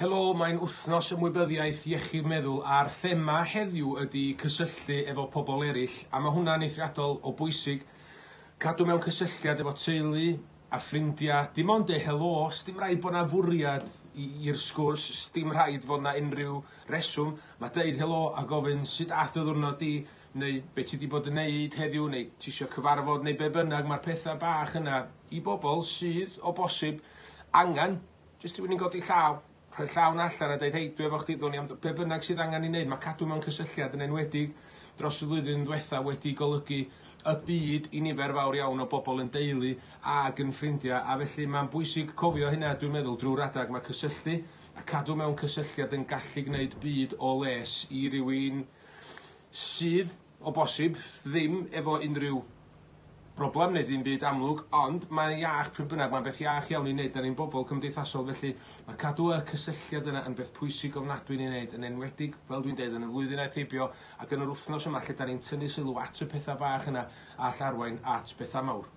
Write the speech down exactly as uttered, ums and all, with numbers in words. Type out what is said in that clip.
Helo, mae'n wythnos ymwybyddiaeth iechyd meddwl a'r thema heddiw ydy cysylltu efo pobl eraill, a mae hwnna'n eithriadol o bwysig. Cadw mewn cysylltiad efo teulu a ffrindiau, dim ond deud helo, sdim rhaid bod 'na fwriad i'r sgwrs, sdim rhaid fod 'na unrhyw reswm. Mae deud helo a gofyn sut ath dy ddiwrnod di, neu be ti 'di bod yn neud heddiw, neu ti isio cyfarfod, neu be bynnag, mae'r pethau bach yna i bobl sydd o bosib angen jyst rhywun i godi llaw, rhoi llaw 'na allan a deud hei, dwi efo chdi, ddown ni am be bynnag sydd angen i wneud. Mae cadw mewn cysylltiad yn enwedig dros y flwyddyn ddiwetha wedi golygu y byd i nifer fawr iawn o bobl yn deulu ag yn ffrindiau, a felly mae'n bwysig cofio hynna, dwi'n meddwl, drwy'r adag. Mae cysylltu a cadw mewn cysylltiad yn gallu gwneud byd o les i rywun sydd o bosib ddim efo unrhyw broblem neu ddim byd amlwg, ond mae'n iach pryd bynnag, mae'n beth iach iawn i wneud. Da ni'n bobl cymdeithasol, felly mae cadw y cysylltiad yna yn beth pwysig ofnadwy i wneud, yn enwedig, fel dwi'n deud, yn y flwyddyn aeth heibio ac yn yr wythnos yma lle da ni'n tynnu sylw at y pethau bach yna all arwain at bethau mawr.